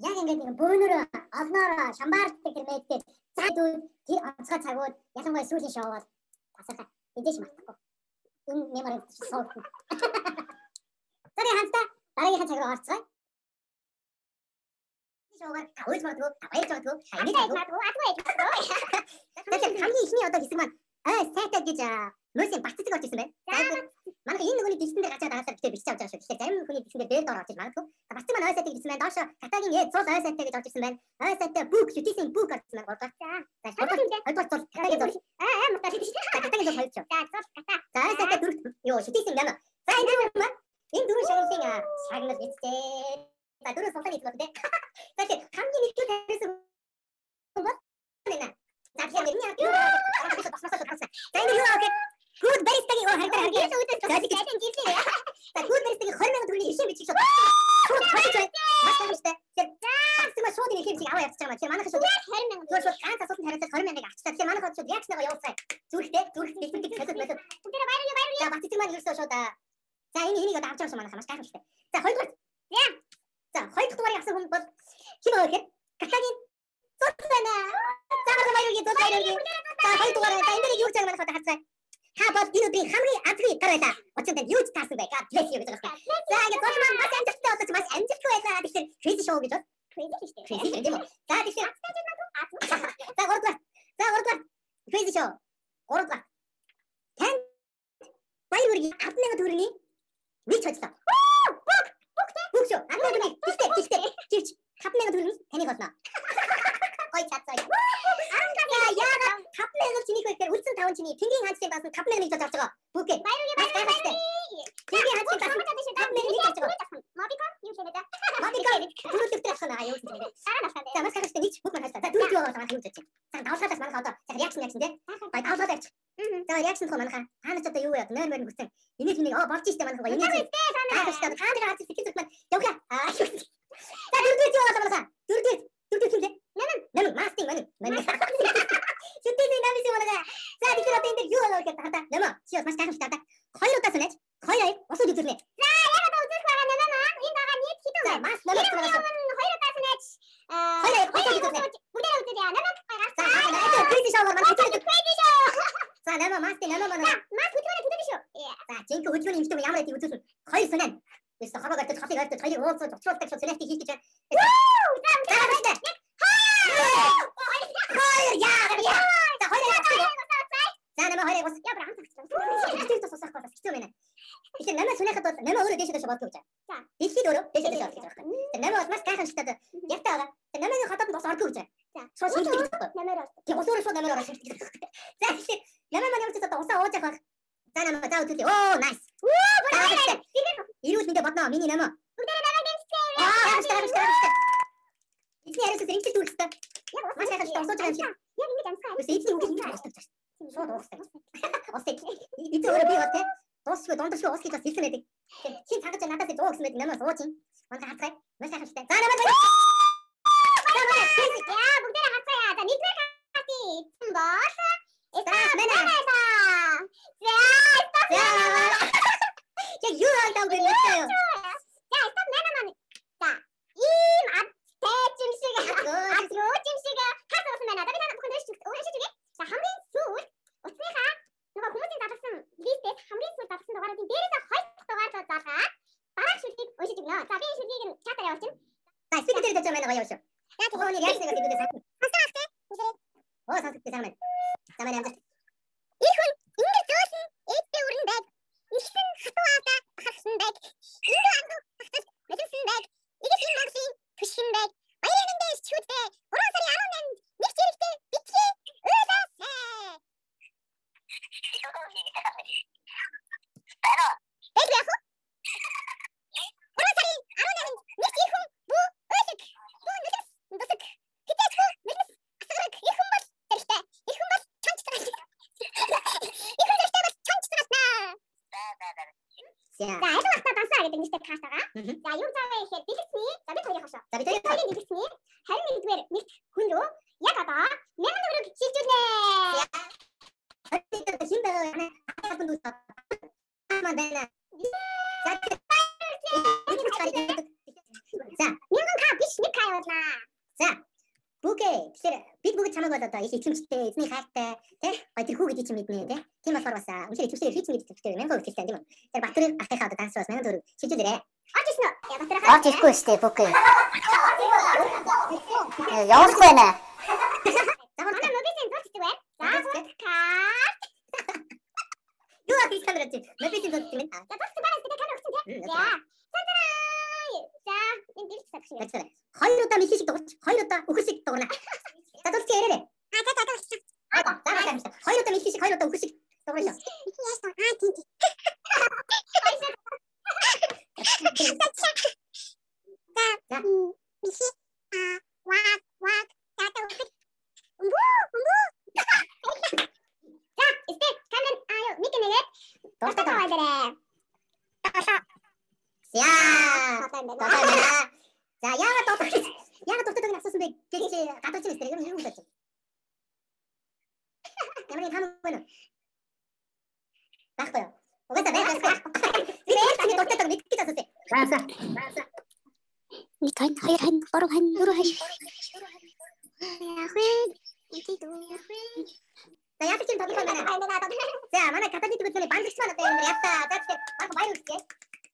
Яг ингээд нэг бөөнөрөө олноороо шамбаарддаг тэр мэдгээд цаадууд тэр онцгой цагууд ялангуяа сүүлийн шоугаар тасархаа эдэж мартахгүй. Энэ мемори суух. Тэрийн хамтаа дараагийн цаг руу орцгоё. Шоугаар хөөж магадгүй, баяж магадгүй, хаяг магадгүй, атгүй. Тэгэхээр хамгийн ихний одоо хэсэг маань сайтай гэж мөсийн баццэг орж ирсэн байна. Манай энэ нөгөөний дижитал дээр гацаад аваад битээ бичиж авч байгаа шүү. Тэгэхээр зарим хүний дижитал дээр доор орж иж магадгүй. Баццэг маань сайтай гэсэн байна. Доошо катагийн цул сайтай гэж орж ирсэн байна. Сайтай бүгд шүтээсийн бүгд орсон байна. Гурдаа. За хоёрдугаар цул катагийн цул. Мартаа шүтээ. Катагийн цул хоёр ч. За цул ката. За сайтай дөрөв. Йоо шүтээсийн нама. За энэ дөрөв шагналын шагнал бичтэй. За дөрөв султан хийж байна. Тэгэхээр хамгийн нэгдүгээр тавьсан бол энэ. За тэгэхээр миний хатуу за энэ юу авах гүд баристагийн харагдаа за гүд баристагийн 20,000 төгрөгийн хишээ бичих шууд маш таамагтай за шууд нэг хэмжиг аваа явчихсан байна. Манайх шууд 20,000 шууд ганц асуултанд хариулаад 20,000-ыг авчихсан. Тэгэхээр манайх шууд реакцнаа явуулсан. Зүрхтэй хэлбэрийг хэлээд байна. Бүгдээ баярлалаа. За баццэг маань ерөөсөө шууд за энэ хэнийг одоо авч байгаа юм манайх маш гайхамшигтай. За хоёрдугаар за хоёр дахь дугаарыг авсан хүн бол хин вэ гэхээр катагийн цуцлана. За баярлалаа. За хоёр дугаараа за энэ юу гэж байгаа манайх одоо хацгаа. Та бол энэ өдрийн хамгийн азгүй гар байлаа. Очинд юу ч таасан бай. God bless you гэж байгаа. За ингэ зурмаа маш амжилттай болооч маш амжилттай байлаа. Тэгэхээр crazy show гэж байна. Crazy шүү дээ. Crazy гэдэг юм. За тэгэхээр за гуравдугаар crazy show. Гуравдугаар. Тань баяргийн 10,000 төгрөгийн нэг хоцлоо. Бүгд шүү. 10,000 төгрөгийн гихтэй 5,000 төгрөгийн таныг болно. Ой чацаа. Яагаад 5,000 чиний гэхээр үлдсэн 5 чиний тэнгийн ханцын бас 5,000 гэж авч байгаа. Бүгд. Баярлалаа. Тэнгийн ханцын бас 5,000 гэж авч байгаа. Мобикон юу хэлээд та? Мобикон түрүүлэгтэй авах нь юу гэж байна. Дараа настай. За маш харагтай нэг бүх маань хаалта. За дөрөв яваа манай юу гэж. За давлахаас манайх одоо реакшн тий. Бай давлаад авчих. За реакшн хөө манайхаа хаанаас одоо юу яа нойр гүцэн. Энийг болж штэ манайхаа энийг. Тааштай хаанаа хаачих сэтгэл зүгт маань явхаа. За дөрөв яваа манайхаа. Дөрөв хэмлээ. Нэн мастинг мэн. Шүтээний намис юм байна. За тэгэхээр одоо энэ дээр юу болоо гэхээр хата. Нэмэ. Чи бас маш гайхамшигтай та. Хоёр удаа санаач. Хоёр усууд үзүүлнэ. За яг одоо үзүүлэх байгаа нэмэ. Энэ байгаа нийт хэдэн вэ? Маш нэмэ. Хоёр удаа санаач. Хоёр усууд үзүүлнэ. Бүгдээ үзүүлъя. Нэмэ гаргасан. За энэ crazy show маань crazy show. За нэмэ мастинг нэмэ манай. Мас хөдөлгөөний шүү. За жинхэнэ хөдөлгөөний юмтай ямар байдгийг үзүүлсэн. Хоёр санаа. Эсвэл хаваа гартаж хатыг гартаж хоёрыг уулзаж очлуулдаг шүү. Селектив хийж гэж байна. За нэмэ хоёрыг бас яа браан цагч. Тэр тусах бас хэцүү байна. Тэгэхээр нэмэ сүнэхэд бол нэмэ өөрөө дээшээ болдог гэж. За дэлхийд өөрөө дээшээ болдог гэж байна. Тэр нэмэ бол маш гайхамшигтай ярьтаа байгаа. Тэр нэмэний хотод бас ордог гэж байна. За шууд шилдэг гэж байна. Нэмээр ордог. Тийм усураа шууд нэмээр ордог шилдэг. За тэгэхээр нэмэ маань ямар ч одоо усаа ууж явах. За нэмэ за үзүүлээ. Оо nice. Оо ирүүл мэдээ бодноо миний нэмэ. Бүгдээ нэмэ гэмцээ. Гайхамшигтай. Эцний яриас зэрэгтэй дүүрхтэй. Маш гайхамшигтай усууж байгаа юм шиг. Яг ингэж амсгаа. Эцний үг ингэж устдаг. Шууд уусдаг. Усыг. Эцэг өөрөө би бол те. Дуусгүй дундашгүй ус гэж бас хэлсэн байдаг. Чи цагаж надаас 100 гэсэн байдаг нэмээ сууж юм. Манай хацгай. Маш гайхамшигтай. За нэмээ. Яа бүгдээ хацгая. За нэгдүгээр хати. Эцэн бол. Яг юу алдаа гэж хэлсэн юу? За стоп нэмээ маань. За ийм тэжим шиг агроожим шиг хасуусан байна. Би надад бүхэн дэвш өөрөө шийдвэ. За хамгийн сүүл утсныхаа нөгөө хүмүүсийн задлсан листээс хамгийн сүүл задлсан дугааруудын дээрээс хоёр дугаар залгаад дараах шүлгийг уншиж өгнө. За би шүлгийг нь чатаар явуулчих. За спикер дээр дэжээ манай гоё шүү. За түүний яг нэг хэдүүдээ сатна. Хасаахтэй. Оо сатдаг сайн байна. За манай амжилт. Их хүн ингэж зөөсөн эдтэй өрн байг. Ихсэн хатуу авда харсан байг. Энд ангу хатаж мэдсэн байг. Игэж юм багсын түшин байг. Баярын дэш чүдээ. 3 сарын 18-нд нэг зэрэгтэй битгий өөсөө. Бара. Бэг яах вэ? 3 сарын 18-нд нэг зэрхэн бүү өөсөг. Бүү нүхэс дусаг. Хитэж бүү нүхэс асгараг их хүн бол зэрэгтэй. Их хүн бол чанч цагаас. Их хүн зэрэгтэй бол чанч цагаснаа. За энэ багтаа дансаа гэдэг нэртэй каст байгаа. За юу зааваа ихээр дэлгэцний за бид хоёрын хашаа. За бид хоёрын дэлгэцний 21-р нэгт хүн рүү яг одоо 8 төгрөг шилжүүлнэ. Одоо хин байгаа хатанд үсэ. Аман байна. За 1000 к биш нэг кай явуулнаа. За. Бүгэ. Тэгэхээр бид бүгд чамайг бол одоо их итгэмжтэй, эзний хайртай, тий? Гой тэр хүү гэдэг чинь мэднэ, тий? Тийм болохоор бас үнэхээр итгэвчтэй хийцэн гэдэг хэрэгтэй 1000% итгэвчтэй тийм үү? Тэр Батөр ахыхаа одоо дансраас 1000 төгрөг шилжүүлээрэй. Орж ирсэн үү? Батөр ахаа. Орж ирэхгүй штэ бүгэ. Явах байна. Манай мобилийн зурцдаг байна. За карт. Юу ахих сандраад чи? Мобилийн зурцдаг юм. За зурцдаг байна гэдэг камер өгсөн тий. За. За энэ дэрч сагш. Хоёр удаа мэлхий шиг дуурч, хоёр удаа үхэр шиг дуурна. За зурч яриарэ. За. Хоёр удаа мэлхий шиг, хоёр удаа үхэр шиг дуурна. За яагаад дутдаг асуусан бэ? Гэж гадууч юм эсвэл юм уу? Ямар нэг хамаг байна уу? Баггүй. Угаасаа байх. Би дутдаг мэддэг асуусан. Зааса. 1 хан 2 хан 3 хан 4 хан. За яах гэж тоглох юм байна. За манай каталитик үзлээ банзагч маань одоо энэ яста. За тэгэхээр баг баяр үргэлжлэе.